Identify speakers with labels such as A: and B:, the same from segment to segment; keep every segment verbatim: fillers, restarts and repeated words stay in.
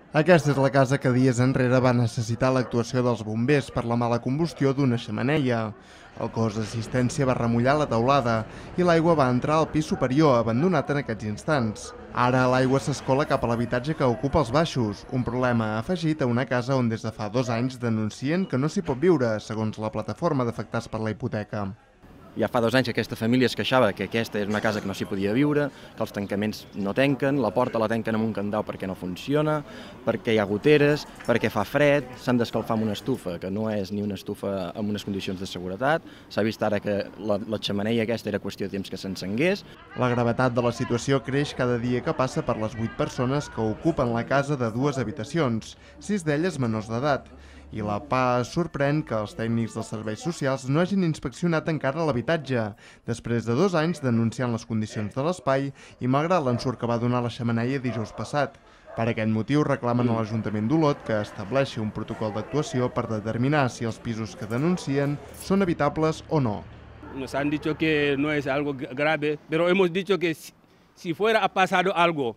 A: Aquesta és la casa que dies enrere va necessitar l'actuació dels bombers per la mala combustió d'una xemeneia. El cos d'assistència va remullar la teulada i l'aigua va entrar al pis superior, abandonat en aquests instants. Ara l'aigua s'escola cap a l'habitatge que ocupa els baixos, un problema afegit a una casa on des de fa dos anys denuncien que no s'hi pot viure, segons la plataforma d'afectats per la hipoteca.
B: Ja fa dos anys que aquesta família es queixava que aquesta és una casa que no s'hi podia viure, que els tancaments no tanquen, la porta la tanquen amb un candau perquè no funciona, perquè hi ha goteres, perquè fa fred, s'han d'escalfar amb una estufa, que no és ni una estufa amb unes condicions de seguretat. S'ha vist ara que la, la xemeneia aquesta era qüestió de temps que s'encengués.
A: La gravetat de la situació creix cada dia que passa per les vuit persones que ocupen la casa de dues habitacions, sis d'elles menors d'edat. I la P A sorprèn que els tècnics dels serveis socials no hagin inspeccionat encara l'habitatge, després de dos anys denunciant les condicions de l'espai i malgrat l'ensurt que va donar la xemeneia dijous passat. Per aquest motiu reclamen a l'Ajuntament d'Olot que estableixi un protocol d'actuació per determinar si els pisos que denuncien són habitables o no.
C: Nos han dicho que no es algo grave, pero hemos dicho que si, si fuera a pasado algo,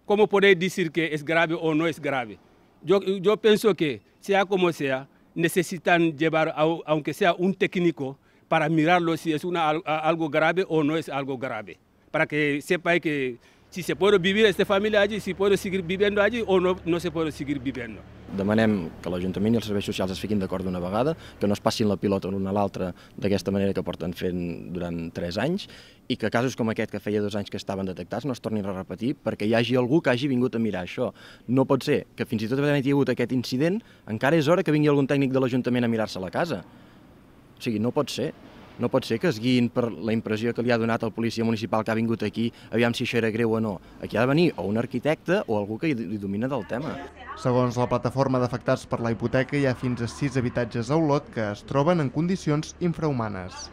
C: ¿cómo podéis decir que es grave o no es grave? Yo, yo pienso que, sea como sea, necesitan llevar, a, aunque sea un técnico, para mirarlo si es una, algo grave o no es algo grave. Para que sepa que si se puede vivir esta familia allí, si puede seguir viviendo allí o no, no se puede seguir viviendo.
B: Demanem que l'Ajuntament i els serveis socials es fiquin d'acord d'una vegada, que no es passin la pilota l'un a l'altre d'aquesta manera que porten fent durant tres anys i que casos com aquest que feia dos anys que estaven detectats no es tornin a repetir perquè hi hagi algú que hagi vingut a mirar això. No pot ser que fins i tot havent hi hagut aquest incident encara és hora que vingui algun tècnic de l'Ajuntament a mirar-se la casa. O sigui, no pot ser. No pot ser que es guiïn per la impressió que li ha donat el policia municipal que ha vingut aquí, aviam si això era greu o no. Aquí ha de venir o un arquitecte o algú que hi domina del tema.
A: Segons la plataforma d'afectats per la hipoteca, hi ha fins a sis habitatges a Olot que es troben en condicions infrahumanes.